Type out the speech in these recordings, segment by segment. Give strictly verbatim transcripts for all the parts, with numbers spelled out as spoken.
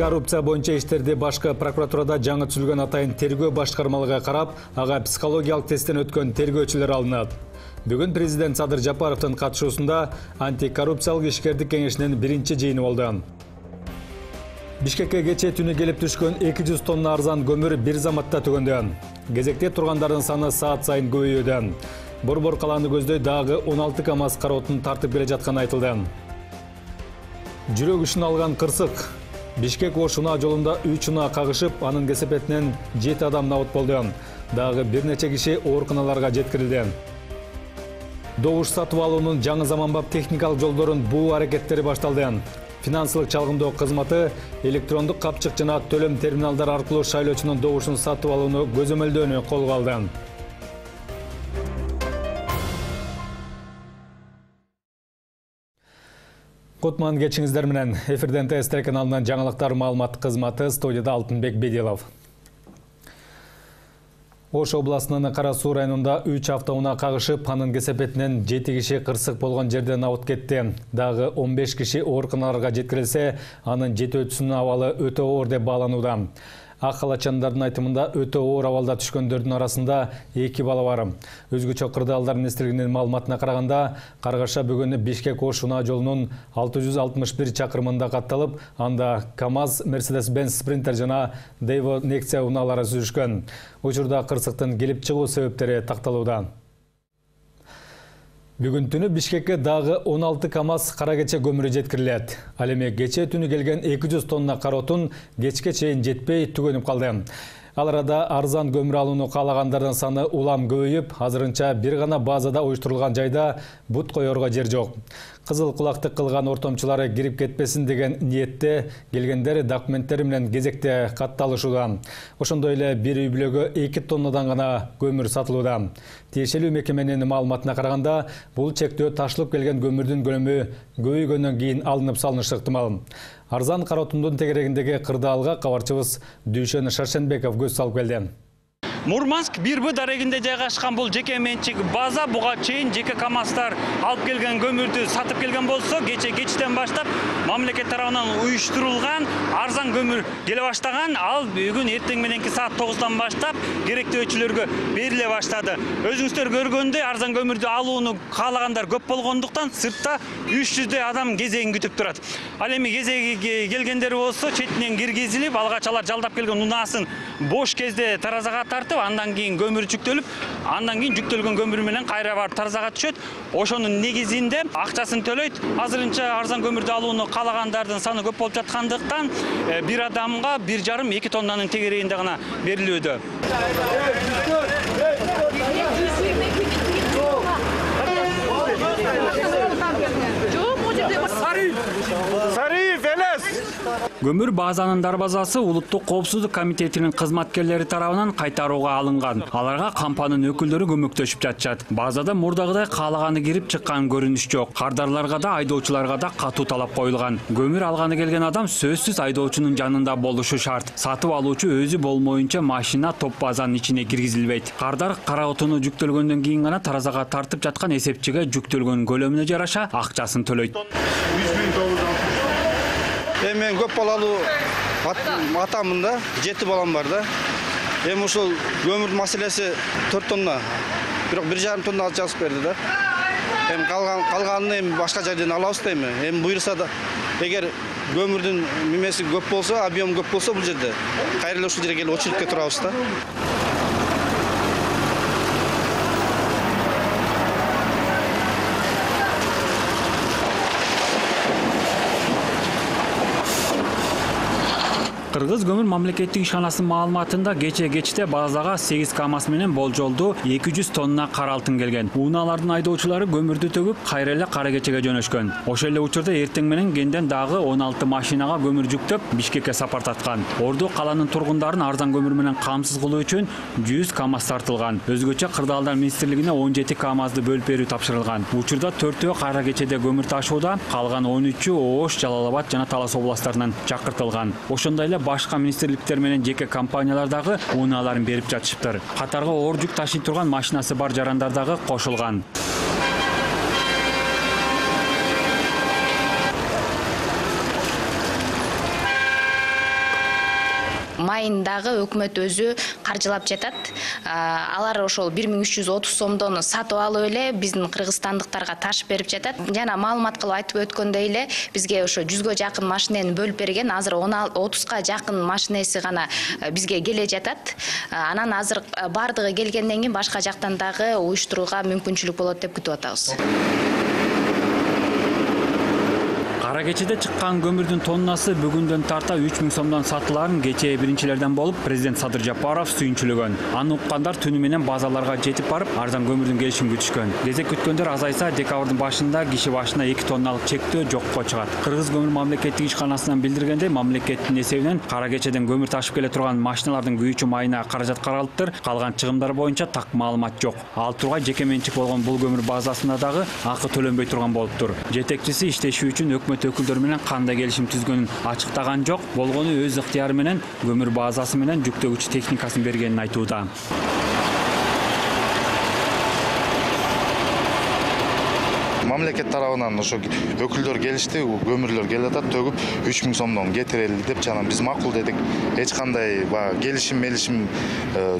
Коррупция боюнча иштерди башкы прокуратурада жаңы түзүлгөн атайын тергөө башкармалыгы карап, ага психологиялык тесттен өткөн тергөөчүлөр алынат. Бүгүн президент Садыр Жапаровдун катышуусунда антикоррупциялык ишкердик кеңешинин биринчи жыйыны болду. Бишкекке кечээ түнү келип түшкөн эки жүз тонна арзан көмүр бир заматта түгөндү. Кезекте тургандардын саны саат сайын көбөйүүдө. Борбор калааны көздөй дагы он алты КАМАЗ кара отун тартып келе жатканы айтылды. Жүрөк ишин алган кырсык. Бишкек-Ош унаа жолунда үч унаа кагышып, анын кесепетинен жети адам набыт болду. Дагы бир нече киши ооруканаларга жеткирилди. Добуш сатып алуунун жаңы заманбап техникалык жолдорун буу аракеттери башталды. Финансылык чалгындоо кызматы электрондук капчык жана төлөм терминалдары аркылуу шайлоочунун добушун сатып алууну көзөмөлдөөнү колго алды. Кутман кечиңиздер менен. Эфирден ТСТ каналынан жаңылыктар маалымат кызматы, студияда Алтынбек Бедилов. Ош областынын Кара Суу районунда үч автоунаа кагышып, анын кесепетинен жети киши кырсык болгон жерде набыт кетти. Дагы он беш киши ооруканаларга жеткирилсе, анын жетөөчүсүнүн абалы өтө оор деп бааланууда. Ак халачандардын айтымында өтө оор абалда түшкөндөрдүн арасында эки бала бар. Өзгөчө Кырдаалдар министрлигинин маалыматына караганда, каргаша бүгүн Бишкек-Ош унаа жолунун алты жүз алтымыш бир чакырымында катталып, анда КАМАЗ, Mercedes-Benz Sprinter жана Daewoo Nexia унаалары сүзүшкөн. Учурда кырсыктын келип чыгуу себептери такталууда. Бүгүн түнү Бишкекке дагы он алты КАМАЗ кара кече көмүрү жеткирилет. Ал эми кечээ түнү келген эки жүз тонна кара отун кечке чейин жетпей түгөнүп калды. Ал арада арзан көмүр алууну каалагандардын саны улам көбөйүп, азырынча бир гана базада уюштурулган жайда бут коерго жер жок. Кызыл кулактык кылган ортомчулары кирип кетпесин деген ниетте келгендер документтери менен кезекте катталышууда. Ошондой эле бир үй бүлөгө эки тоннадан гана көмүр сатылууда. Тиешелүү мекеменин маалыматына караганда, бул чектөө ташылып келген көмүрдүн көлөмү көбөйгөндөн кийин алынып салынышы ыктымал. Арзан кара отундун тегерегиндеги Кырдаалга кабарчыбыз Дүйшөн Шаршенбеков көз салып келди. Мурманск бир Б дарегинде жайгашкан бул жеке менчик база буга чейин жеке КАМАЗдар алып келген көмүрдү сатып келген болсо, кече кечтен баштап мамлекет тарабынан уюштурулган арзан көмүр келе баштаган. Ал бүгүн эртең мененки саат тогуздан баштап керектөөчүлөргө бериле баштады. Өзүңүздөр көргөндөй арзан көмүрдү алууну каалагандар көп болгондуктан сыртта үч жүздөй адам кезегин күтүп турат. Ал эми кезеги келгендер болсо четинен киргизилип, алгач алар жалдап келген унаасын бош кезде таразага тартып, андан кийин көмүр жүктөлүп, андан кийин жүктөлгөн көмүр менен кайра барып таразага түшөт. Ошонун негизинде акчасын төлөйт. Азырынча арзан көмүрдү алууну каалагандардын саны көп болуп жаткандыктан бир адамга бир жарым эки тоннанын тегерегинде гана берилүүдө. Көмүр базанын дарбазасы Улуттук коопсуздук комитетинин кызматкерлери тарабынан кайтарууга алынган. Аларга компаниянын өкүлдөрү көмөктөшүп жатышат. Базада мурдагыдай каалаганы кирип чыккан көрүнүш жок. Кардарларга да, айдоочуларга да катуу талап коюлган. Көмүр алганы келген адам сөзсүз айдоочунун жанында болушу шарт. Сатып алуучу өзү болмоюнча машина топ базанын ичине киргизилбейт. Кардар кара отуну жүктөлгөндөн кийин гана таразага тартып жаткан эсепчиге жүктөлгөн көлөмүнө жараша акчасын төлөйт. Мен көп балалуу атамын да, жети балам бар да. Эми ушул көмүр маселеси төрт тонна, бирок бир жарым тонна алып жазып берди да. Эми калган калганын эми башка жерден алабыз да эми. Эми буйрса да, эгер көмүрдүн мемеси көп болсо, объем көп болсо бул жерде кайра эле ушул жерге келип очередке турабыз да. Кыргыз көмүр мамлекеттик ишканасынын маалыматында кече кечте базага сегиз КАМАЗ менен болжолдуу эки жүз тонна кара алтын келген. Унаалардын айдоочулары көмүрдү төгүп, кайра эле кара кечеге жөнөшкөн. Ошол эле учурда эртең менен кенден дагы он алты машинага көмүр жүктөп, Бишкекке сапар таткан. Орду каланын тургундарын арзан көмүр менен камсыз кылуу үчүн жүз КАМАЗ тартылган. Өзгөчө Кырдаалдар министрлигине он жети КАМАЗды бөлүп берүү тапшырылган. Учурда төртөө кара кечеде көмүр ташууда, калган он үчү Ош, Жалал Абад жана Талас областтарынан чакыртылган. Ошондой эле башка министрликтер менен жеке компаниялар дагы унааларын берип жатышыптыр. Катарга оор жүк ташый турган машинасы бар жарандар дагы кошулган. майындагы өкмөт өзү каржылап жатат. Алар ошол бир миң үч жүз отуз сомдон сатып алып эле биздин кыргызстандыктарга ташып берип жатат. Жана маалымат кылып айтып өткөндөй эле бизге ошо жүзгө жакын машинени бөлүп берген. Азыр отузга жакын машинеси гана бизге келе жатат. Анан азыр бардыгы келгенден кийин башка жактан дагы уюштурууга мүмкүнчүлүк болот деп күтүп атабыз. Кара кечеде чыккан көмүрдүн тоннасы бүгүндөн тарта үч миң сомдон сатыларын кечээ биринчилерден болуп президент Садыр Жапаров сүйүнчүлөгөн. Аны уккандар түнү менен базаларга жетип барып, арзан көмүрдүн келишин күтүшкөн. Кезек күткөндөр азайса, декабрдын башында киши башына эки тонналык чектөө жокко чыгат. Кыргыз көмүр мамлекеттик ишканасынан билдиргенде, мамлекеттин эсебинен кара кечеден көмүр ташып келе турган машиналардын күйүүчү майына каражат каралыптыр. Калган чыгымдар боюнча так маалымат жок. Ал тургай жеке менчик болгон бул көмүр базасында дагы акы төлөнбөй турган болуптур. Жетекчиси иштеши үчүн өкмөт өкүлдөрү менен кандай келишим түзгөнүн ачыктаган жок. Болгону өз ыктыяры менен көмүр базасы менен жүктөгүч техникасын бергенин айтууда. Мамлекет тарабынан ошо өкүлдөр келишти, көмүрлөр келе атат, төгүп үч миң сомдон кетирели деп жана биз макул дедик. Эч кандай баягы келишим, мелишим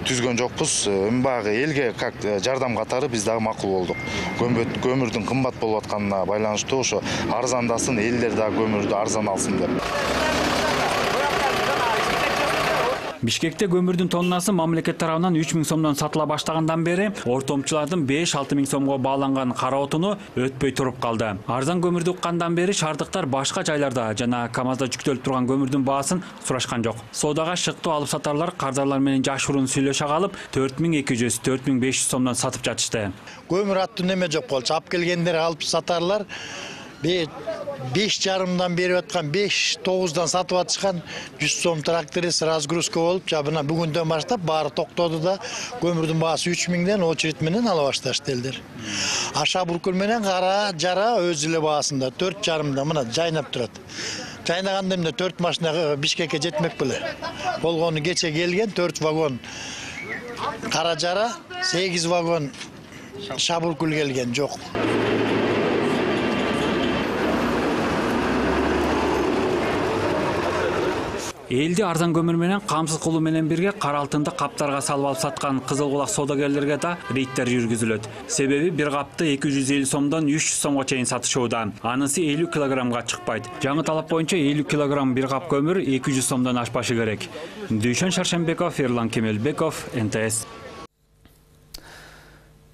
түзгөн жокпуз. Баягы элге как жардам катары биз дагы макул болдук. Көмүрдүн кымбат болуп атканына байланыштуу ошо арзандасын, элдер дагы көмүрдү арзан алсын деп. Бишкекте көмүрдүн тоннасы мамлекет тарабынан үч миң сомдон сатыла баштагандан бери ортомчулардын беш алты миң сомго бааланган кара отуну өтпөй туруп калды. Арзан көмүрдү уккандан бери шаардыктар башка жайларда жана КАМАЗда жүктөлүп турган көмүрдүн баасын сурашкан жок. Соодага шыктуу алып сатарлар кардарлар менен жашыруун сүйлөшө калып, төрт миң эки жүз, төрт миң беш жүз сомдон сатып жатышты. Көмүр аттуу неме жок болчу. Алып келгендер алып сатарлар беш жарымдан берип аткан, беш тогуздан сатып атышкан жүз сом тракторист разгрузка болуп, жабына бүгүндөн баштап баары токтоду да, көмүрдүн баасы үч миңден очередь менен ала башташты элдер. Аша буркул менен кара жара өз эле баасында төрт жарымда мына жайнап турат. Жайнаганда эмне төрт машина Бишкекке жетмек беле. Болгону кече келген төрт вагон кара жара, сегиз вагон шабуркул келген жок. Элди арзан көмүр менен камсыз кылуу менен бирге кара алтынды каптарга салып алып саткан кызыл кулак соодагерлерге да рейдтер жүргүзүлөт. Себеби бир капты эки жүз элүү сомдон үч жүз сомго чейин сатышууда. Анысы элүү килограммга чыкпайт. Жаңы талап боюнча элүү килограмм бир кап көмүр эки жүз сомдон ашпашы керек. Дүйшөн Шаршенбеков, Ерлан Кемелбеков, Н Т С.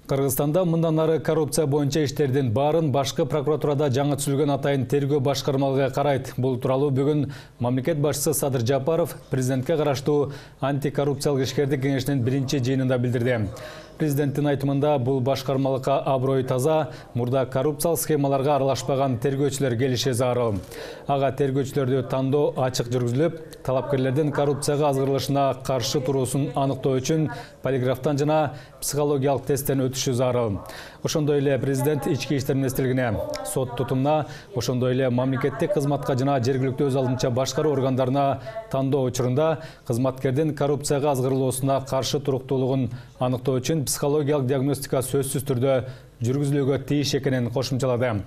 Кыргызстанда мындан ары коррупция боюнча иштердин баарын башкы прокуратурада жаңы түзүлгөн атайын тергөө башкармалыгы карайт. Бул тууралуу бүгүн мамлекет башчысы Садыр Жапаров президентке караштуу антикоррупциялык ишкердик кеңешинин биринчи жыйынында билдирди. Президенттин айтымында бул башкармалыкка аброй таза, мурда коррупциялык схемаларга аралашпаган тергөөчүлөр келиши зарыл. Ага тергөөчүлөрдү тандоо ачык жүргүзүлүп, талапкерлердин коррупцияга азгырылышына каршы туруусун аныктоо үчүн полиграфтан жана психологиялык тесттен өтүшү зарыл. Ошондой эле президент ички иштер министрлигине, сот тутумуна, ошондой эле мамлекеттик кызматка жана жергиликтүү өз алдынча башкаруу органдарына тандоо учурунда кызматкердин коррупцияга азгырылуусуна каршы туруктуулугун аныктоо үчүн психологиялык диагностика сөзсүз түрдө жүргүзүлүүгө тийиш экенин кошумчалады.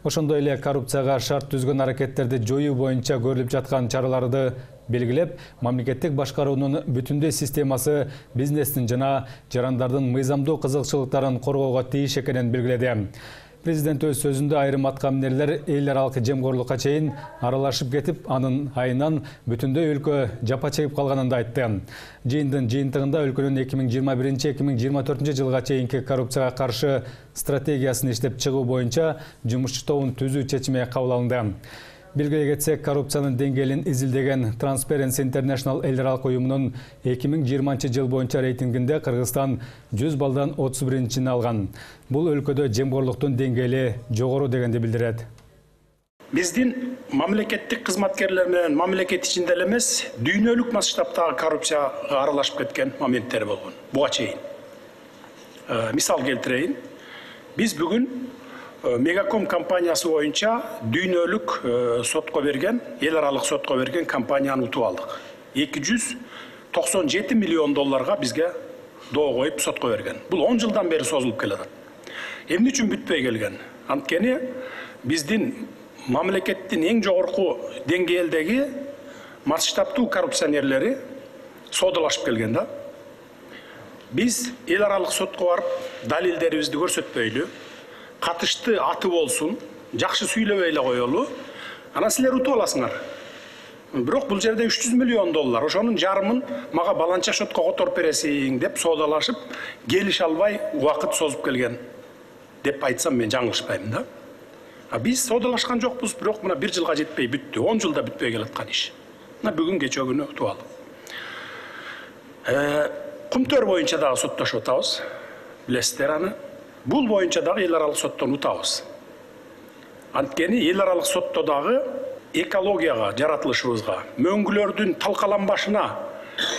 Ошондой эле коррупцияга шарт түзгөн аракеттерди жоюу боюнча көрүлүп жаткан чараларды белгилеп, мамлекеттик башкаруунун бүтүндөй системасы бизнестин жана жарандардын мыйзамдуу кызыкчылыктарын коргоого тийиш экенин белгиледи. Президент өз сөзүндө айрым аткаминерлер эл аралык жемгорлукка чейин аралашып кетип, анын айынан бүтүндөй өлкө жапа чегип калганын да айтты. Жыйындын жыйынтыгында өлкөнүн эки миң жыйырма биринчи эки миң жыйырма төртүнчү жылга чейинки коррупцияга каршы стратегиясын иштеп чыгуу боюнча жумушчу тобун түзүү чечими кабыл алынды. Белгилей кетсек, коррупциянын деңгээлин изилдеген Transparency International эл аралык уюмунун эки миң жыйырманчы жыл боюнча рейтингинде Кыргызстан жүз балдан отуз биринчини алган. Бул өлкөдө жемгорлуктун деңгээли жогору дегенди билдирет. Биздин мамлекеттик кызматкерлер менен мамлекет ичинде эле эмес, дүйнөлүк масштабтагы коррупцияга аралашып кеткен моменттер болгон. Буга чейин. Мисал келтирейин. Биз бүгүн Мегаком компаниясы боюнча дүйнөлүк сотко берген, эл аралык сотко берген компанияны утуп алдык. эки жүз токсон жети миллион долларга бизге доо коюп сотко берген. Бул он жылдан бери созулуп келет. Эмне үчүн бүтпөй келген? Анткени биздин мамлекеттин эң жогорку деңгээлдеги масштабтуу коррупционерлери соодалашып келген да. Биз эл аралык сотко барып, далилдерибизди көрсөтпөйлү, катышты аты болсун, жакшы сүйлөбөй эле коелу. Анан силер утуп аласыңар. Бирок бул жерде үч жүз миллион доллар, ошонун жарымын мага баланча шотко которуп бересиң деп соодалашып, келише албай убакыт созуп келген деп айтсам мен жаңылышпайм да. А биз соодалашкан жокпуз, бирок мына бир жылга жетпей бүттү, он жылда бүтпөй келаткан иш. Мына бүгүн кече күнү утуп алдым. Кумтөр боюнча дагы соттошуп атабыз. Билесиздер аны. Бул боюнча дагы эл аралык соттон утабыз. Анткени эл аралык сотто дагы экологияга, жаратылышыбызга, мөңгүлөрдүн талкаланбашына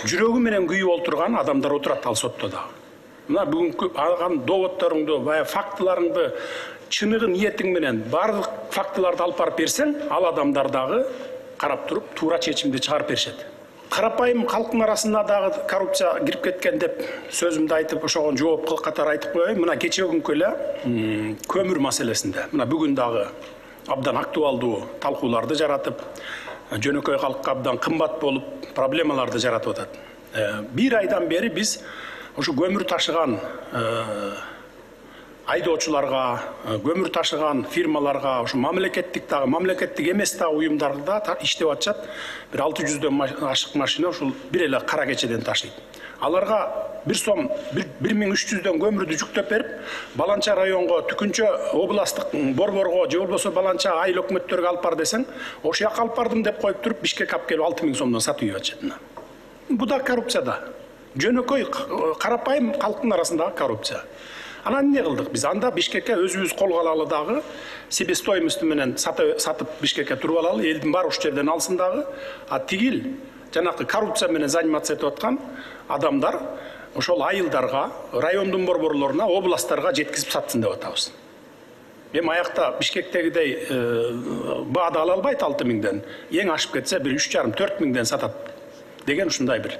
жүрөгү менен күйүп олтурган адамдар отурат ал сотто дагы. Мына бүгүнкү алган доводторуңду, бая фактыларыңды, чыныгы ниетиң менен бардык фактыларды алып барып берсең, ал адамдар дагы карап туруп туура чечимди чыгарып беришет. Карапайым калктын арасына дагы коррупция кирип кеткен деп сөзүмдү айтып, ошого жооп катары айтып коеюн. Мына кече күнкү эле көмүр маселесинде, мына бүгүн дагы абдан актуалдуу талкууларды жаратып, жөнөкөй калкка абдан кымбат болуп, проблемаларды жаратып атат. Бир айдан бери биз ошо көмүр ташыган айдоочуларга, көмүр ташыган фирмаларга, ошо мамлекеттик дагы, мамлекеттик эмес дагы уюмдарда иштеп атышат. Бир алты жүздөн ашык машина ошол бир эле кара кечеден ташыйт. Аларга бир сом бир миң үч жүздөн көмүрдү жүктөп берип, Баланча районго, Түкүнчө областтык борборго, же болбосо Баланча айыл өкмөттөргө алып бар десең, ошол жака алып бардым деп коюп туруп, Бишкек алып келип алты миң сомдон сатып ийип атышат. Бу да коррупция да. Жөнөкөй карапайым калктын арасындагы коррупция. Анан эмне кылдык биз? Анда Бишкекке өзүбүз колго алалы дагы, себестоимости менен сатып Бишкекке туруп алалы, элдин баары ушул жерден алсын дагы. А тигил жанакы коррупция менен заниматься этип аткан адамдар ошол айылдарга, райондун борборлоруна, областтарга жеткизип сатсын деп атабыз. Эми аякта Бишкектегидей баада ала албайт алты миңден, эң ашып кетсе бир үч жарым төрт миңден сатат деген ушундай бир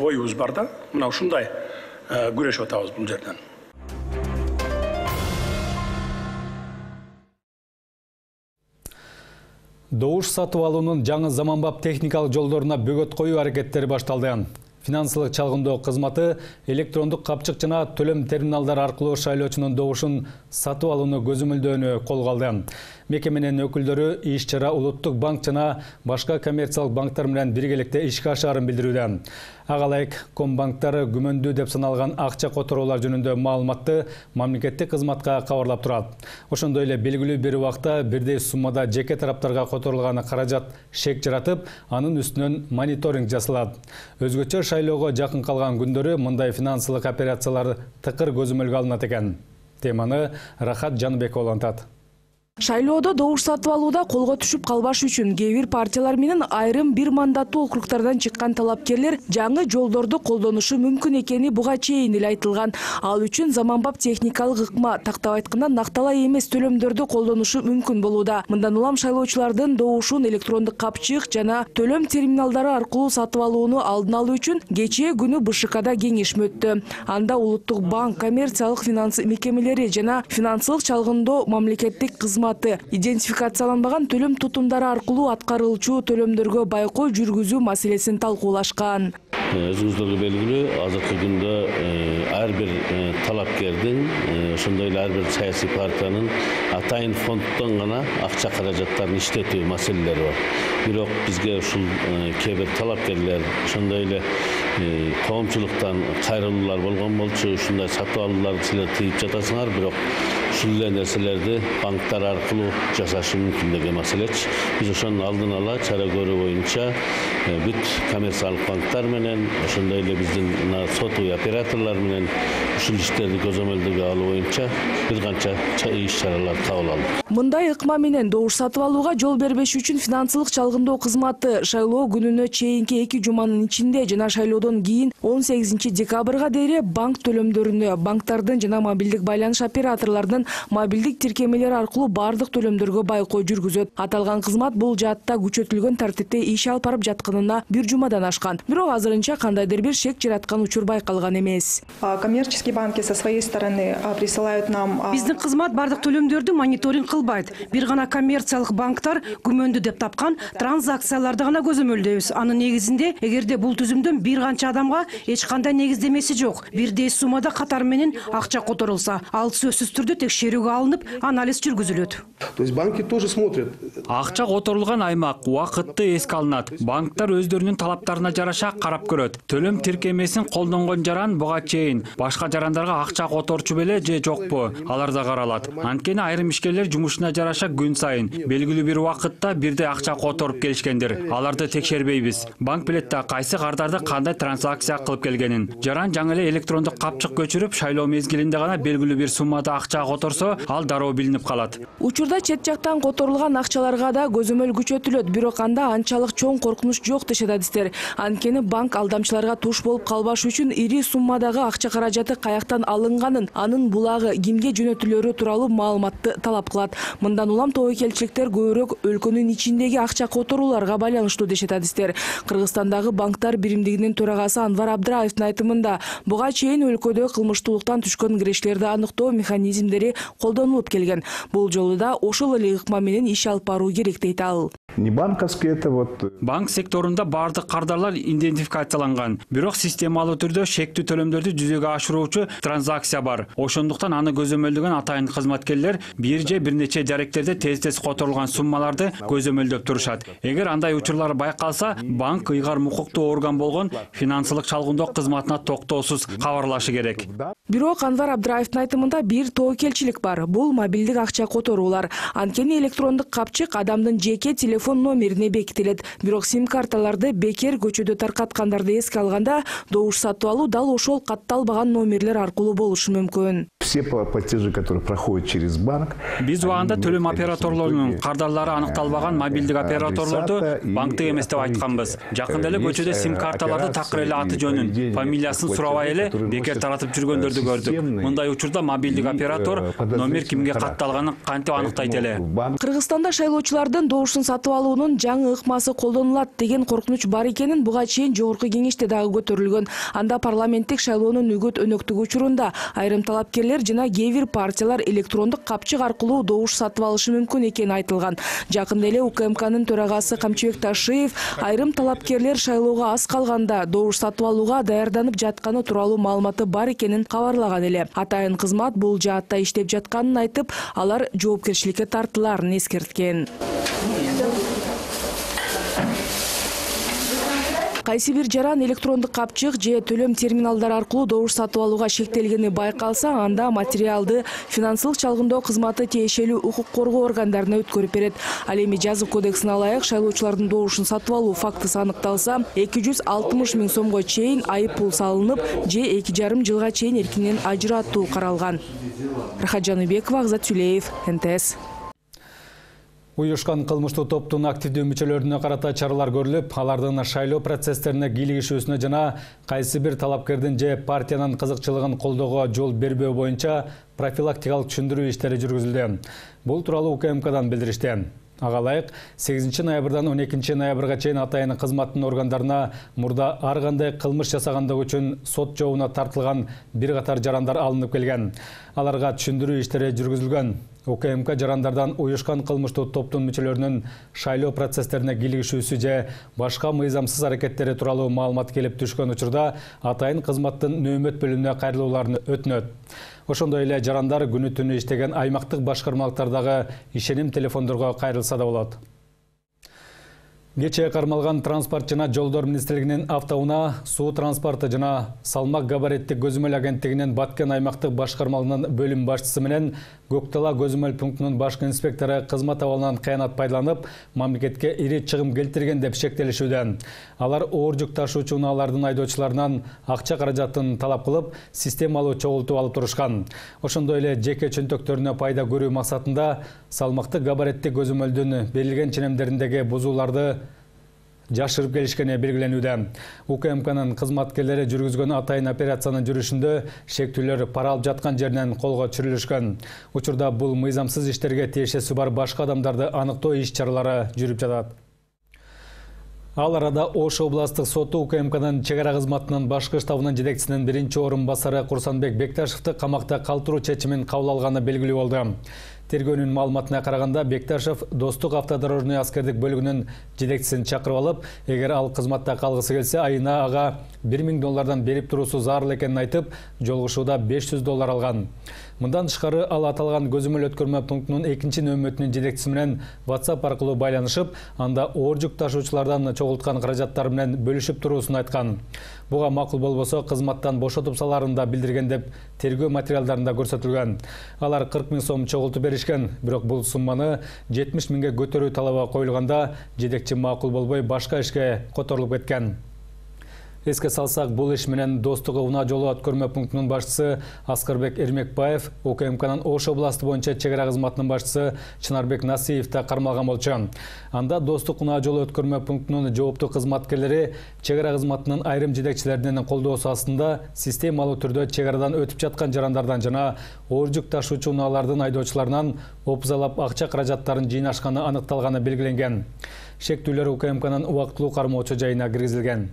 оюбуз бар да. Мына ушундай күрөшүп атабыз бул жерден. Добуш сатып алуунун жаңы заманбап техникалык жолдоруна бөгөт коюу аракеттери башталды. Финансылык чалгындоо кызматы электрондук капчык жана төлөм терминалдары аркылуу шайлоочунун добушун сатып алууну көзөмөлдөөнү колго алды. Мекеменин өкүлдөрү иш-чара Улуттук банк жана башка коммерциялык банктар менен биргеликте ишке ашаарын билдирүүдө. Ага ылайык Комбанктар күмөндүү деп саналган акча которуулар жөнүндө маалыматты мамлекеттик кызматка кабарлап турат. Ошондой эле белгилүү бир убакта бирдей суммада жеке тараптарга которулган каражат шек жаратып, анын үстүнөн мониторинг жасалат. Өзгөчө шайлоого жакын калган күндөрү мындай финансылык операциялар тыкыр көзөмөлгө алынат экен. Теманы Рахат Жаныбекова улантат. Шайлоодо добуш сатып алууда колго түшүп калбаш үчүн кээ бир партиялар менен айрым бир мандаттуу округдардан чыккан талапкерлер жаңы жолдорду колдонушу мүмкүн экени буга чейин эле айтылган. Ал үчүн заманбап техникалык ыкма, тактап айтканда накталай эмес төлөмдөрдү колдонушу мүмкүн болууда. Мындан улам шайлоочулардын добушун электрондук капчык жана төлөм терминалдары аркылуу сатып алууну алдын алуу үчүн кечээ күнү Бэ Ш Кда кеңешме өттү. Анда Улуттук банк, коммерциялык финанс мекемелери жана финансылык чалгындоо мамлекеттик кызмат идентификацияланбаган төлөм тутумдары аркылуу аткарылчу төлөмдөргө байкоо жүргүзүү маселесин талкуулашкан. Өзүңүздөргө белгилүү, азыркы күндө ар бир талапкердин, ошондой эле ар бир саясий партиянын атайын фонддон гана акча каражаттарын иштетүү маселелери бар. Бирок бизге ушул кээ бир талапкерлер ошондой эле коомчулуктан кайрылуулар болгон болчу, ушундай сатып алууларды силер тыйып жатасыңар, бирок ушул эле нерселерди банктар аркылуу жасашы мүмкүн деген маселечи. Биз ошонун алдын ала чара көрүү боюнча бүт коммерциялык банктар менен, ошондой эле биздин сотуй операторлор менен ушул иштерди көзөмөлдөгө алуу боюнча бир канча иш-чаралар кабыл алдык. Мындай ыкма менен добуш сатып алууга жол бербеш үчүн финансылык чалгындоо кызматы шайлоо күнүнө чейинки эки жуманын ичинде жана шайлоодон кийин он сегизинчи декабрга дейре банк төлөмдөрүнө, банктардын жана мобилдик байланыш операторлордун мобилдик тиркемелери аркылуу бардык төлөмдөргө байкоо жүргүзөт. Аталган кызмат бул жаатта күчөтүлгөн тартипте иш алып барып жатканына бир жумадан ашкан. Бирок азырынча кандайдыр бир шек жараткан учур байкалган эмес. Коммерческий коммерческие банки со своей стороны присылают нам. Биздин кызмат бардык төлөмдөрдү мониторинг кылбайт. Бир гана коммерциялык банктар күмөндүү деп тапкан транзакцияларды гана көзөмөлдөйбүз. Анын негизинде, эгерде бул түзүмдөн бир канча адамга эч кандай негиздемеси жок, бирдей суммада катар менен акча которулса, ал сөзсүз түрдө текшерүүгө алынып, анализ жүргүзүлөт. То есть банки тоже смотрят. Акча которулган аймак убакытты эске алынат. Банктар өздөрүнүн талаптарына жараша карап көрөт. Төлөм тиркемесин колдонгон жаран буга чейин башка жарандарга акча которчу беле же жокпу, алар да каралат. Анткени айрым ишкерлер жумушуна жараша күн сайын белгилүү бир убакытта бирдей акча которуп келишкендир. Аларды текшербейбиз. Банк билет да кайсы кардарды кандай транзакция кылып келгенин. Жаран жаңы эле электрондук капчык көчүрүп, шайлоо мезгилинде гана белгилүү бир суммада акча которсо, ал дароо билинип калат. Учурда чет жактан которулган акчаларга да көзөмөл күчөтүлөт, бирок анда анчалык чоң коркунуч жок дешет адистер. Анткени банк алдамчыларга туш болуп калбаш үчүн ири суммадагы акча каражаты каяктан алынганын, анын булагы кимге жөнөтүлөрү тууралуу маалыматты талап кылат. Мындан улам тобокелчиликтер көбүрөөк өлкөнүн ичиндеги акча которууларга байланыштуу дешет адистер. Кыргызстандагы банктар биримдигинин төрагасы Анвар Абдраевдин айтымында, буга чейин өлкөдө кылмыштуулуктан түшкөн кирештерди аныктоо механизмдери колдонулуп келген. Бул жолу да ошол эле ыкма менен иш алып баруу керек дейт ал. Не банковский, это вот... Банк секторунда бардык кардарлар идентификацияланган. Бирок системалуу түрдө шектүү төлөмдөрдү жүзөгө ашыруучу транзакция бар. Ошондуктан аны көзөмөлдөгөн атайын кызматкерлер бир же бир нече даректерде тез-тез которулган суммаларды көзөмөлдөп турушат. Эгер андай учурлар байкалса, банк ыйгарым укуктуу орган болгон финансылык чалгындоо кызматына токтоосуз кабарлашы керек. Бирок Анвар Абдраевдин айтымында бир тобокелчилик бар. Бул мобилдик акча которуулар. Анткени электрондук капчык адамдын жеке телефон номерине бекитилет. Бирок сим-карталарды бекер көчөдө таркаткандарды эске алганда, добуш сатып алуу дал ошол катталбаган номерлер аркылуу болушу мүмкүн. Все платежи, которые проходят через банк. Биз убагында төлөм операторлорунун кардарлары аныкталбаган мобилдик операторлорду банктык эмес деп айтканбыз. Жакында эле көчөдө сим-карталарды такыр эле аты жөнүн, фамилиясын сурабай эле бекер таратып жүргөндөрдү көрдүк. Мындай учурда мобилдик оператор номер кимге катталганын кантип аныктайт эле. Кыргызстанда шайлоочулардын добушун сатып алуунун жаңы ыкмасы колдонулат деген коркунуч бар экенин буга чейин жогорку кеңеште дагы көтөрүлгөн. Анда парламенттик шайлоонун үгөт өнөктүгү учурунда айрым талапкерлер жана кээ бир партиялар электрондук капчык аркылуу добуш сатып алышы мүмкүн экени айтылган. Жакында эле УКМКнын төрагасы Камчыбек Ташиев айрым талапкерлер шайлоого аз калганда добуш сатып алууга даярданып жатканы тууралуу маалыматы бар экенин кабарлаган эле. Атайын кызмат бул жаатта иштеп жатканын айтып, алар жоопкерчиликке тартылаарын эскерткен. Кайсы бир жаран электрондук капчык же төлөм терминалдары аркылуу добуш сатып алууга шектелгени байкалса, анда материалды финансылык чалгындоо кызматы тиешелүү укук коргоо органдарына өткөрүп берет. Ал эми жазык кодексине ылайык шайлоочулардын добушун сатып алуу фактысы аныкталса, эки жүз алтымыш миң сомго чейин айып пул салынып, же эки жарым жылга чейин эркинен ажыратуу каралган. Рахат Жаныбекова, Азат Сүлеев, эн тэ эс. Уюшкан кылмыштуу топтун активдүү мүчөлөрүнө карата чаралар көрүлүп, алардын шайлоо процесстерине кийлигишүүсүнө жана кайсы бир талапкердин же партиянын кызыкчылыгын колдоого жол бербөө боюнча профилактикалык түшүндүрүү иштери жүргүзүлдү. Бул тууралуу УКМКдан билдиришти. Ага ылайык, сегизинчи ноябрдан он экинчи ноябрга чейин атайын кызматтын органдарына мурда ар кандай кылмыш жасагандыгы үчүн сот жообуна тартылган бир катар жарандар алынып келген. Аларга түшүндүрүү иштери жүргүзүлгөн. УКМК жарандардан уюшкан кылмыштуу топтун мүчөлөрүнүн шайлоо процесстерине кийлигишүүсү же башка мыйзамсыз аракеттери тууралуу маалымат келип түшкөн учурда атайын кызматтын нөөмөт бөлүмүнө кайрылууларын өтүнөт. Ошондой эле жарандар күнү түнү иштеген аймактык башкармалыктардагы ишеним телефондорго кайрылса да болот. Кечээ кармалган транспорт жана жолдор министрлигинин автоунаа, суу транспорты жана салмак габариттик көзөмөл агенттигинин Баткен аймактык башкармалыгынын бөлүм башчысы менен Көктала көзөмөл пунктунун башкы инспектору кызмат абалынан кыянат пайдаланып, мамлекетке ири чыгым келтирген деп шектелишүүдө. Алар оор жүк ташуучу унаалардын айдоочуларынан акча каражатын талап кылып, системалуу чогултуп алып турушкан. Ошондой эле жеке чөнтөктөрүнө пайда көрүү максатында салмактык габариттик көзөмөлдүн берилген ченемдериндеги бузууларды жашырып келишкени белгиленүүдө. УКМКнын кызматкерлери жүргүзгөн атайын операциянын жүрүшүндө шектүүлөр пара алып жаткан жеринен колго түшүрүлүшкөн. Учурда бул мыйзамсыз иштерге тиешеси бар башка адамдарды аныктоо иш-чаралары жүрүп жатат. Ал арада Ош областык соту У К М К'нын чек ара кызматынын башкы штабынын жетекчисинин биринчи орун басары Курсанбек Бекташевди камакта калтыруу чечимин кабыл алганы белгилүү болду. Тергөөнүн маалыматына караганда Бекташев Достук автодорожный аскердик бөлүгүнүн жетекчисин чакырып алып, эгер ал кызматта калгысы келсе, айына ага бир миң доллардан берип туруусу зарыл экенин айтып, жолугушууда беш жүз доллар алган. Мындан тышкары ал аталган көзөмөл өткөрмө пунктунун экинчи нөмөтүнүн жетекчиси менен WhatsApp аркылуу байланышып, анда оор жүк ташуучулардан чогулткан каражаттары менен бөлүшүп туруусун айткан. Буга макул болбосо кызматтан бошотуп саларын да билдирген деп тергөө материалдарында көрсөтүлгөн. Алар кырк миң сом чогултуп беришкен, бирок бул сумманы жетимиш миңге көтөрүү талабы коюлганда жетекчи макул болбой башка ишке которулуп кеткен. Эске салсак, бул иш менен Достук унаа жолу өткөрмө пунктунун башчысы Аскарбек Эрмекбаев, У К М К'нын Ош областы боюнча чек ара кызматынын башчысы Чынарбек Насиев да кармалган болчу. Анда Достук унаа жолу өткөрмө пунктунун жооптуу кызматкерлери чек ара кызматынын айрым жетекчилеринин колдоосу астында системалуу түрдө чек арадан өтүп жаткан жарандардан жана оор жүк ташуучу унаалардын айдоочуларынан опузалап акча каражаттарын жыйнашканы аныкталганы белгиленген. Шектүүлөр У К М К'нын убактылуу кармоочу жайына киргизилген.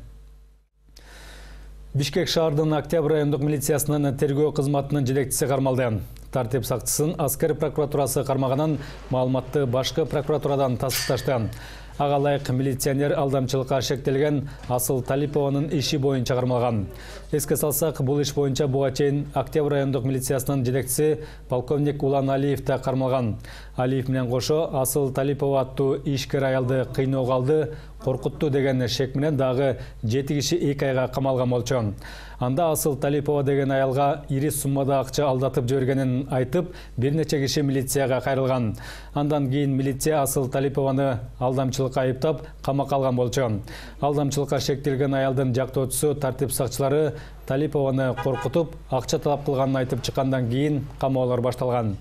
Бишкек шаардын Октябрь райондук милициясынын тергөө кызматынын жетекчиси кармалды. Тартип сакчысын аскер прокуратурасы кармаганын маалыматты башкы прокуратурадан тастыкташты. Ага ылайык милиционер алдамчылыкка шектелген Асыл Талипованын иши боюнча кармалган. Эске салсак, бул иш боюнча буга чейин Октябрь райондук милициясынын жетекчиси полковник Улан Алиев да кармалган. Алиев менен кошо Асыл Талипова аттуу ишкер аялды кыйноого алды, коркутту деген шек менен дагы жети киши эки айга камалган болчу. Анда Асыл Талипова деген аялга ири суммада акча алдатып жибергенин айтып, бир нече киши милицияга кайрылган. Андан кийин милиция Асыл Талипованы алдамчылыкка айыптап, камакка алган болчу. Алдамчылыкка шектелген аялдын жактоочусу тартип сакчылары Талипованы коркутуп, акча талап кылганын айтып чыккандан кийин камоолор башталган.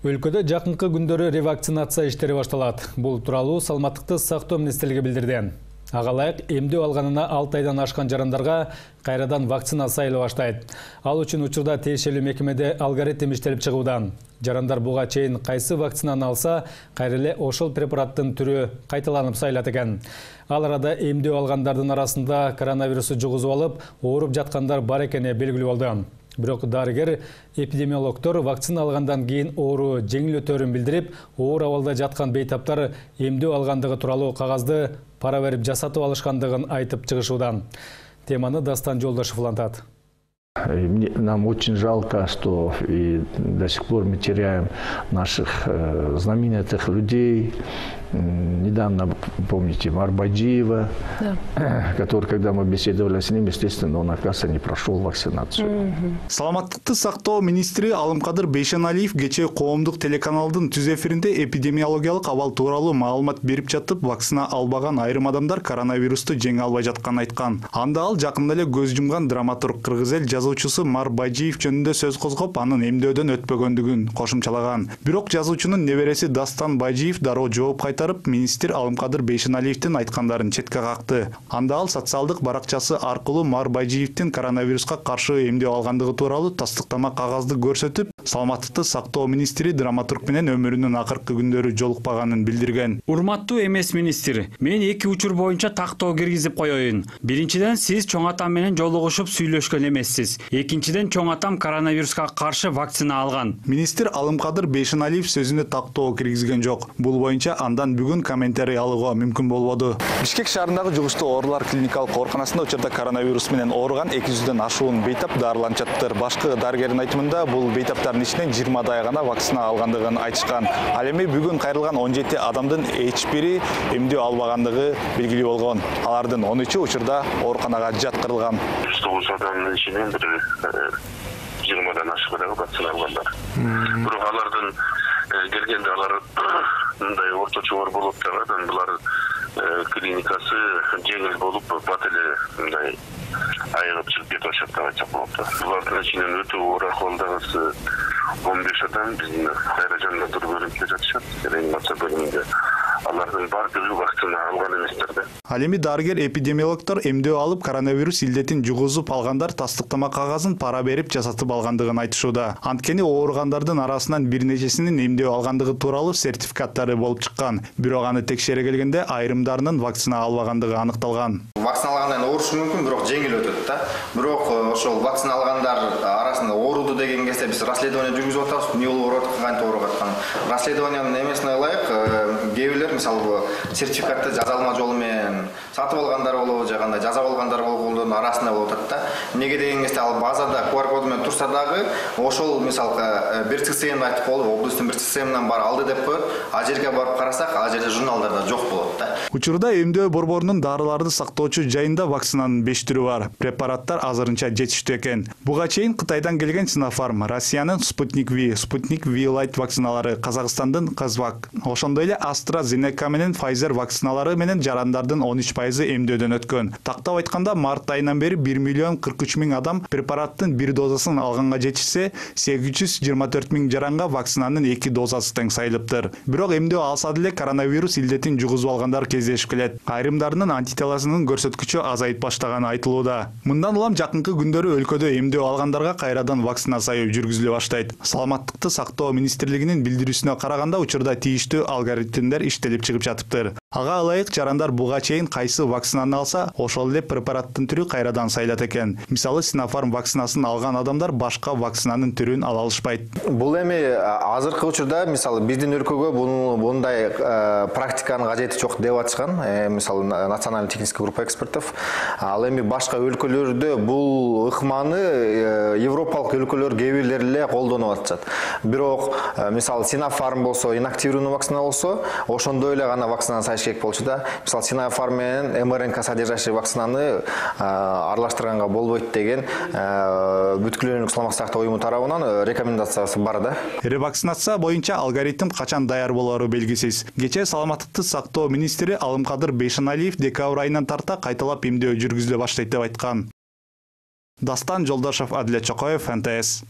Өлкөдө жакынкы күндөрү ревакцинация иштери башталат. Бул тууралуу Саламаттыкты сактоо министрлиги билдирди. Ага ылайык эмдөө алганына алты айдан ашкан жарандарга кайрадан вакцина сайыла баштайт. Ал үчүн учурда тиешелүү мекемеде алгоритм иштелип чыгууда. Жарандар буга чейин кайсы вакцинаны алса, кайра эле ошол препараттын түрү кайталанып сайылат экен. Ал арада эмдөө алгандардын арасында коронавирусту жугузуп алып, ооруп жаткандар бар экени белгилүү болду. Бирок дарыгер эпидемиологдор вакцина алгандан кийин оору жеңил өтөрүн билдирип, оор абалда жаткан бейтаптар эмдөө алгандыгы тууралуу кагазды пара берип жасатып алышкандыгын айтып чыгышууда. Теманы Дастан Жолдошев улантат. Нам очень жалко, что и до сих пор мы теряем наших э, знаменитых людей. Недавно, помните, Марбаджиева, да. который, когда мы беседовали с ним, естественно, он, оказывается, не прошел вакцинацию. Саламаттыкты сактоо министри Алымкадыр Бейшеналиев кечээ коомдук телеканалдын түз эфиринде эпидемиологиялык абал тууралуу маалымат берип жатып, вакцина албаган айрым адамдар коронавирусту жеңе албай жатканын айткан. Анда ал жакында эле көз жумган драматург кыргыз эл жазуучусу Марбаджиев жөнүндө сөз козгоп, анын эмдөөдөн өтпөгөндүгүн кошумчалаган. Бирок жазуучунун небереси Дастан Бажиев дароо жооп кайтарып, министр Алымкадыр Бейшеналиевдин айткандарын четке какты. Анда ал социалдык баракчасы аркылуу Марбаджиевдин коронавируска каршы эмдөө алгандыгы тууралуу тастыктама кагазды көрсөтүп, саламаттыкты сактоо министри драматург менен өмүрүнүн акыркы күндөрү жолукпаганын билдирген. Урматтуу эмес министр, мен эки учур боюнча тактоо киргизип коеюн. Биринчиден, сиз чоң атам менен жолугушуп сүйлөшкөн эмессиз. Экинчиден, чоң атам коронавируска каршы вакцина алган. Министр Алымкадыр Бейшеналиев сөзүнө тактоо киргизген жок. Бул боюнча андан бүгүн комментарий алууга мүмкүн болбоду. Бишкек шаарындагы жугуштуу оорулар клиникалык ооруканасында учурда коронавирус менен ооруган эки жүздөн ашуун бейтап дарыланып жатыптыр. Башкы дарыгердин айтымында бул бейтаптардын ичинен жыйырмадай гана вакцина алгандыгын айтышкан. Ал эми бүгүн кайрылган он жети адамдын эч бири эмдөө албагандыгы белгилүү болгон. Алардын он үчү учурда ооруканага жаткырылган. жүз тогуз адамдын ичинен бир жыйырмадан ашык вакцина алгандар. Бирок алардын келгенде алар мындай орточо оор болуп жатат, булар клиникасы жеңил болуп, бат эле мындай айыгып чыгып кетип атышат деп айтсак болот. Булардын ичинен өтө оор акыбалдагысы он беш адам биздин кайра жандандыруу бөлүмүндө жатышат, реанимация бөлүмүндө. алардын баардыгы вакцина алган эместер да. Ал эми дарыгер эпидемиологдор эмдөө алып коронавирус илдетин жугузуп алгандар тастыктама кагазын пара берип жасатып алгандыгын айтышууда. Анткени ооругандардын арасынан бир нечесинин эмдөө алгандыгы тууралуу сертификаттары болуп чыккан. Бирок аны текшере келгенде айрымдарынын вакцина албагандыгы аныкталган. Вакцина алгандан оорушу мүмкүн, бирок жеңил өтөт да. Бирок ошол вакцина алгандар арасында ооруду деген кезде биз расследование жүргүзүп атабыз. Эмне болуп атат, кантип ооруп аткан. Расследованиянын эмесине ылайык, кээ бирлер мисалы сертификатты жазалма жолу менен сатып алгандар болобу, же кандай жазап алгандар болгондордун арасында болуп атат да. Эмнеге деген кезде ал базада ку ар коду менен турса дагы ошол мисалы бир ЦСМди айтып коелу, облустун бир ЦСМинен бар алды деп коет. А жерге барып карасак, ал жерде журналдарда жок болот да. Учурда эмдөө борборунун дарыларды сактоочу жайында вакцинанын беш түрү бар. Препараттар азырынча жетиштүү экен. Буга чейин Кытайдан келген Sinopharm, Россиянын Sputnik V, Sputnik V Light вакциналары, Казакстандын Казвак, ошондой эле AstraZeneca менен Pfizer вакциналары менен жарандардын он үч пайызы эмдөөдөн өткөн. Тактап айтканда, март айынан бери бир миллион кырк үч миң адам препараттын бир дозасын алганга жетишсе, сегиз жүз жыйырма төрт миң жаранга вакцинанын эки дозасы тең сайылыптыр. Бирок эмдөө алса деле коронавирус илдетин жугузуп алгандар кездешип келет. Айрымдарынын антителосунун көрсөткүчү азайып баштаганы айтылууда. Мындан улам жакынкы күндөрү өлкөдө эмдөө алгандарга кайрадан вакцина сайып жүргүзүлө баштайт. Саламаттыкты сактоо министрлигинин билдирүүсүнө караганда, учурда тийиштүү алгоритмдер иштелип чыгып жатыптыр. Ага ылайык жарандар буга чейин кайсы вакцинаны алса, ошол эле препараттын түрү кайрадан сайылат экен. Мисалы, Sinopharm вакцинасын алган адамдар башка вакцинанын түрүн ала алышпайт. Бул эми азыркы учурда мисалы биздин өлкөгө bunday практиканын кажети жок деп атышкан. Мисалы, национальный технический группа экспертов. Ал эми башка өлкөлөрдө бул ыкманы европалык өлкөлөр кээ бирлери эле колдонуп атышат. Бирок мисалы Sinopharm болсо, инактивированный вакцина болсо, ошондой эле гана вакцинаны сайыш керек болчу да. Мисалы, Sinopharm менен МРНК содержащий вакцинаны аралаштырганга болбойт деген бүткүл өлкөлүк саламаттык сактоо уюму тарабынан рекомендациясы бар да. Ревакцинация боюнча алгоритм качан даяр болору белгисиз. Кечээ саламаттыкты сактоо министри Алымкадыр Бейшеналиев декабрь айынан тарта кайталап эмдөө жүргүзүлө баштайт деп айткан. Дастан Жолдошов, Адилет Чокоев, эн тэ эс.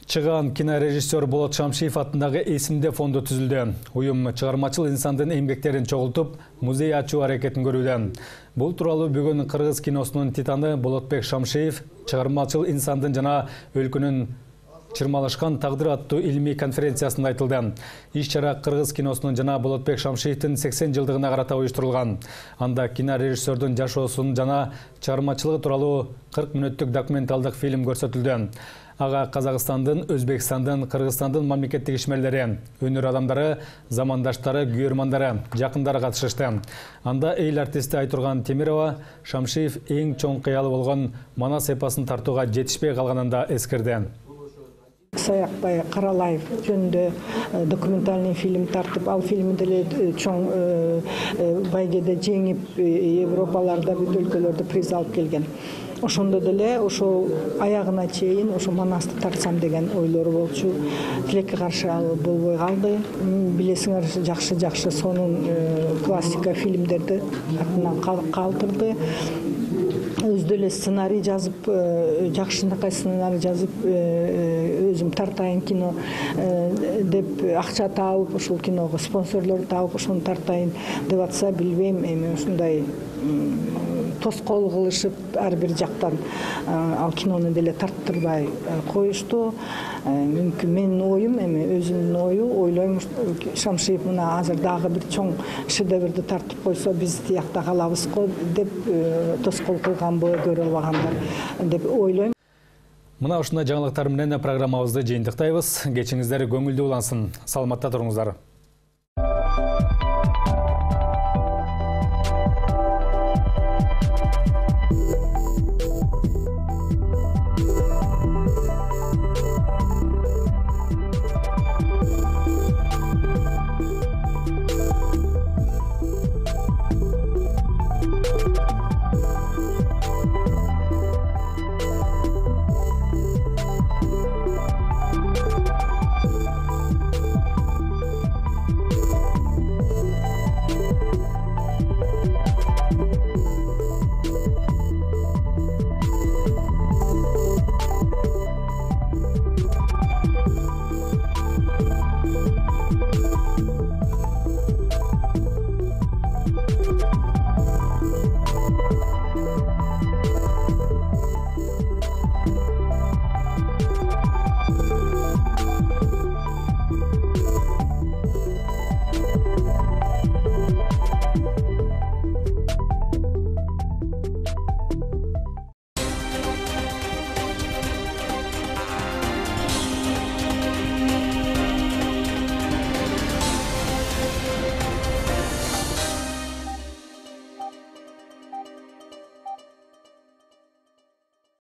Чыган кинорежиссер Болот Шамшиев атындагы эсимде фонду түзүлдү. Уюм чыгармачыл инсандын эмгектерин чогултуп, музей ачуу аракетин көрүүдө. Бул тууралуу бүгүн кыргыз киносунун титаны Болотбек Шамшиев чыгармачыл инсандын жана өлкөнүн чырмалышкан тагдыр аттуу илмий конференциясында айтылды. Иш-чара кыргыз киносунун жана Болотбек Шамшиевдин сексен жылдыгына карата уюштурулган. Анда кинорежиссердун жашоосун жана чыгармачылыгы тууралуу кырк мүнөттүк документалдык фильм көрсөтүлдү. Ага Казакстандын, Өзбекстандын, Кыргызстандын мамлекеттик ишмерлери, өнөр адамдары, замандаштары, күйөрмандары, жакындары катышышты. Анда эл артисти Айтурган Темирова Шамшиев эң чоң кыялы болгон Манас эпосун тартууга жетишпей калганында эскерди. Саякбай Каралаев жөнүндө документальный фильм тартып, ал фильмди деле чоң байгеде жеңип, Европаларда, бүт өлкөлөрдө приз алып келген. Ошондо деле ошол аягына чейин ошо Манасты тартсам деген ойлору болчу. Тилекке каршы ал болбой калды. Билесиңер, жакшы-жакшы сонун классика фильмдерди артынан калтырды. Өзү эле сценарий жазып, жакшынакай сценарий жазып, өзүм тартайын кино деп акча таап, ошол киного спонсорлор таап, ошону тартайын деп атса, билбейм, эми ушундай тоскоол кылышып, ар бир жактан ал кинону деле тарттырбай коюшту. Мүмкүн менин оюм, эми өзүмдүн ою, ойлойм, Шамшиев мына азыр дагы бир чоң шедеврди тартып койсо, биз тиякта калабыз го деп тоскоол кылганбы, көрө албагандар деп ойлойм. Мына ушундай жаңылыктар менен программабызды жыйынтыктайбыз. Кечиңиздер көңүлдүү улансын. Саламатта туруңуздар.